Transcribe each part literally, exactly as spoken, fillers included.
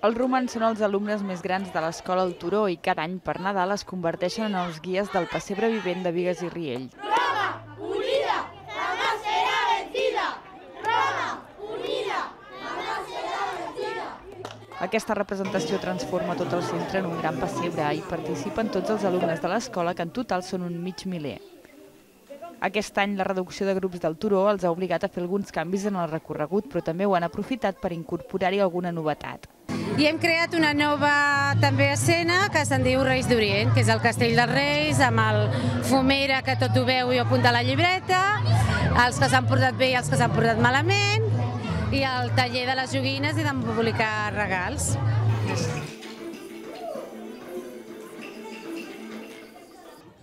Els romans són els alumnes més grans de l'escola El Turó i cada any per Nadal es converteixen en els guies del pessebre vivent de Bigues i Riells. Roma, unida, jamás será vencida. Roma, unida, jamás será vencida. Aquesta representació transforma tot el centre en un gran pessebre i participen tots els alumnes de l'escola, que en total són un mig miler. Aquest any la reducció de grups del Turó els ha obligat a fer alguns canvis en el recorregut, però també ho han aprofitat per incorporar-hi alguna novetat. I hem creat una nova també escena que se'n diu Reis d'Orient, que és el Castell dels Reis, amb el fumera que tot ho veu i ho apunta a la llibreta, els que s'han portat bé i els que s'han portat malament, i el taller de les joguines i de publicar regals.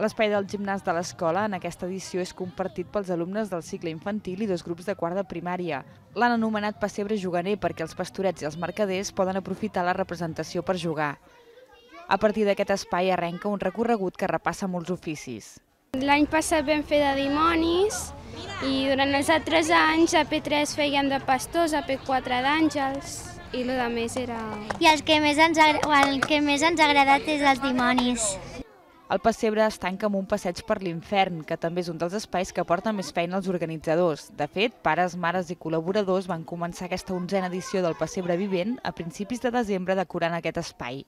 L'espai del gimnàs de l'escola en aquesta edició és compartit pels alumnes del cicle infantil i dos grups de quart de primària. L'han anomenat pessebre juganer perquè els pastorets i els mercaders poden aprofitar la representació per jugar. A partir d'aquest espai arrenca un recorregut que repassa molts oficis. L'any passat vam fer de dimonis i durant els altres anys a P tres fèiem de pastors, a P quatre d'àngels i el que més era... I el que més ens ha, el que més ens ha agradat és els dimonis. El pessebre es tanca amb un passeig per l'Infern, que també és un dels espais que porta més feina als organitzadors. De fet, pares, mares i col·laboradors van començar aquesta onzena edició del pessebre vivent a principis de desembre decorant aquest espai.